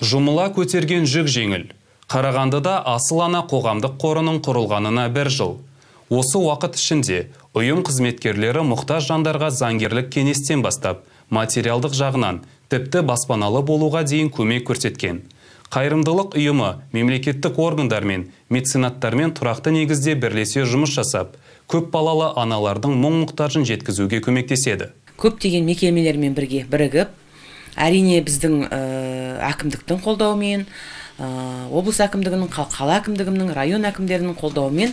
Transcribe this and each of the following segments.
Жұмыла көтерген жүк жеңіл. Қарағандыда Асыл ана қоғамдық қорының құрылғанына 1 жыл. Осы уақыт ішінде ұйым қызметкерлері мұқтаж жандарға заңгерлік кеңестен бастап, материалдық жағынан тіпті баспаналы болуға дейін көмек көрсеткен. Қайырымдылық ұйымы мемлекеттік органдармен, меценаттармен тұрақты негізде бірлесе жұмыс жасап, көп балалы аналардың мұң-мұқтажын жеткізуге көмектеседі. Көптеген мекемелермен бірігіп, әрине біздің әкімдіктің қолдауымен, облыс әкімдігінің, қала әкімдігінің, район әкімдерінің қолдауымен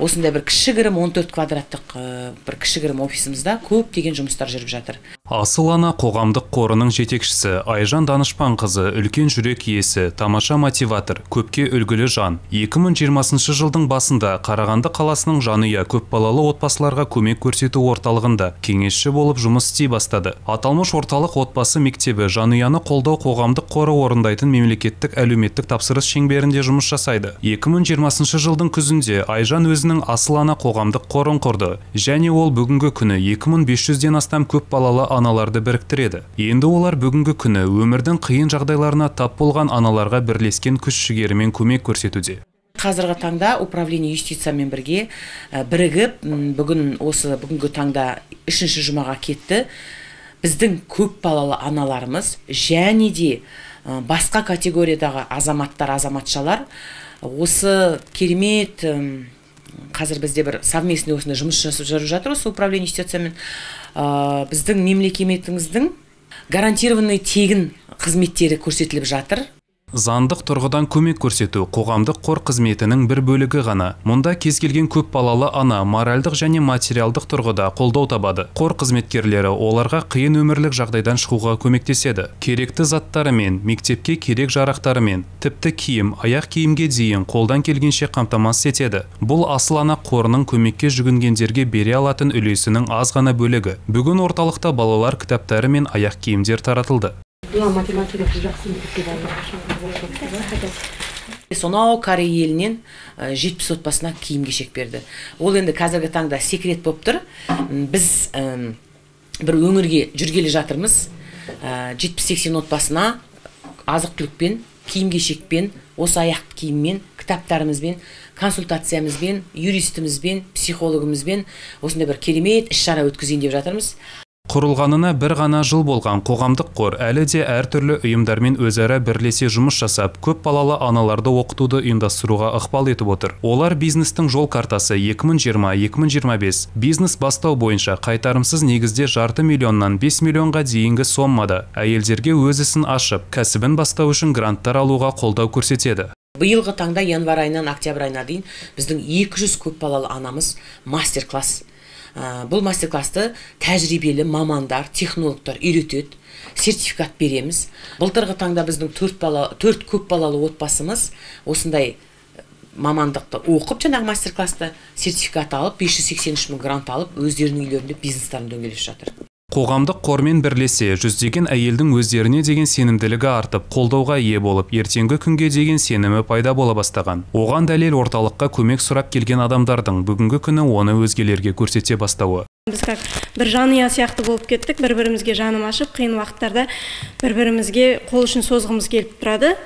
осындай бір кішігірім 14 квадраттық бір кішігірім офисімізде көптеген жұмыстар жүріп жатыр. Асыл ана қоғамдық қорының жетекшісі Айжан Данышпанқызы үлкен жүрек иесі, тамаша мотиватор, көпке үлгілі жан. 2020 жылдың басында Қарағанды қаласының жанұя көпбалалы отбасыларға көмек көрсету орталығында кеңесші болып жұмыс істей бастады. Аталмыш орталық отбасы мектебі жанұяны қолдау қоғамдық қоры орындайтын мемлекеттік әлеуметтік тапсырыс шеңберінде жұмыс жасайды. 2020 жылдың күзінде Айжан өзінің Асыл ана қоғамдық қорын құрды, және ол бүгінгі күні 2500-ден астам көпбалалы аналарды біріктіреді. Енді олар бүгінгі күні өмірдің қиын жағдайларына тап болған аналарға бірлескен күш-жігерімен көмек көрсетуде. Қазіргі таңда управление юстициямен бірігіп, бүгінгі таңда 3-ші жұмаға кетті. Біздің көп балалы аналарымыз және де басқа категориядағы азаматтар, азаматшалар осы керемет қазір бізде бір совместный осында жұмыс жүріп жатыр осы управление юстициямен. Біздің мемлекетіміздің гарантированный тегін қызметтері көрсетіліп жатыр. Заңдық тұрғыдан көмек көрсету қоғамдық қор қызметінің бір бөлігі ғана. Мұнда кез келген көп балалы ана моральдық және материалдық тұрғыда қолдау табады. Қор қызметкерлері оларға қиын өмірлік жағдайдан шығуға көмектеседі. Керекті заттарымен, мектепке керек жарақтарымен, тіпті киім, аяқ киімге дейін қолдан келгенше қамтамасыз етеді. Бұл Асыл ана қорының көмекке жүгінгендерге бере алатын үлесінің аз ғана бөлігі. Бүгін орталықта балалар кітаптары мен аяқ киімдер таратылды. Сонау Корей елінен 70 отбасына киім-кешек берді. Ол енді қазіргі таңда секрет болып тұр. Біз бір өңірге жүргелі жатырмыз. 70-80 отбасына азық-түлікпен, киім-кешекпен, осы аяқ киіммен, кітаптарымызбен, консультациямызбен, юристімізбен, психологымызбен осындай бір керемет іс-шара өткізейін деп жатырмыз. Құрылғанына 1 ғана жыл болған қоғамдық қор әлі де әртүрлі ұйымдармен өзара бірлесе жұмыс жасап, көп балалы аналарды оқытуды ұйымдастыруға ықпал етіп отыр. Олар бизнестің жол картасы 2020-2025 бизнес бастау бойынша қайтарымсыз негізде $500 миллионнан 5 миллионға дейінгі соммада әйелдерге өз ісін ашып, кәсібін бастау үшін гранттар алуға қолдау көрсетеді. Биылғы таңда январь айынан октябрь айына дейін біздің 200 көп балалы анамыз мастер-класс. Бұл мастер-класты тәжірибелі мамандар, технологтар үйретеді, сертификат береміз. Былтырғы таңда біздің 4 көп балалы отбасымыз осындай мамандықты оқып, жаңағы мастер-класты сертификат алып, 583 мың грант алып, өздерінің үйлерінде бизнестарын дөңгелеп жатыр. Қоғамдық қормен бірлесе, жүздеген әйелдің өздеріне деген сенімділігі артып, қолдауға ие болып, ертеңгі күнге деген сенімі пайда бола бастаған. Оған дәлел орталыққа көмек сұрап келген адамдардың бүгінгі күні оны өзгелерге көрсете бастауы. Біз бір жанұя сияқты болып кеттік, бір-бірімізге жаным ашып, қиын уақыттарда бір-бірімізге қол ұшын созғымыз келіп тұрады.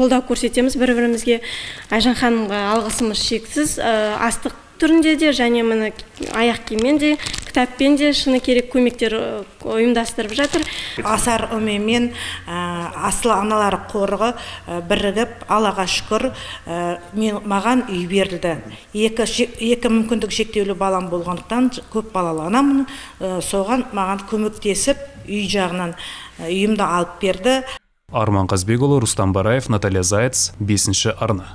Қолдау көрсетеміз бір-бірімізге. Айжан ханымға алғысымыз шексіз, астық түрінде де, және міне аяқ киіммен де, кітаппен де шыны керек көмектер ұйымдастырып жатыр. Асар үмімен Асыл аналар қорығы бірігіп, Аллаға шүкір, маған үй берілді. Екі мүмкіндік шектеулі балам болғандықтан көп балалы анамын, соған маған көмектесіп, үй жағынан үйімді алып берді. Арман Қазбекұлы, Рустам Бараев, Наталья Заяц, 5-ші арна.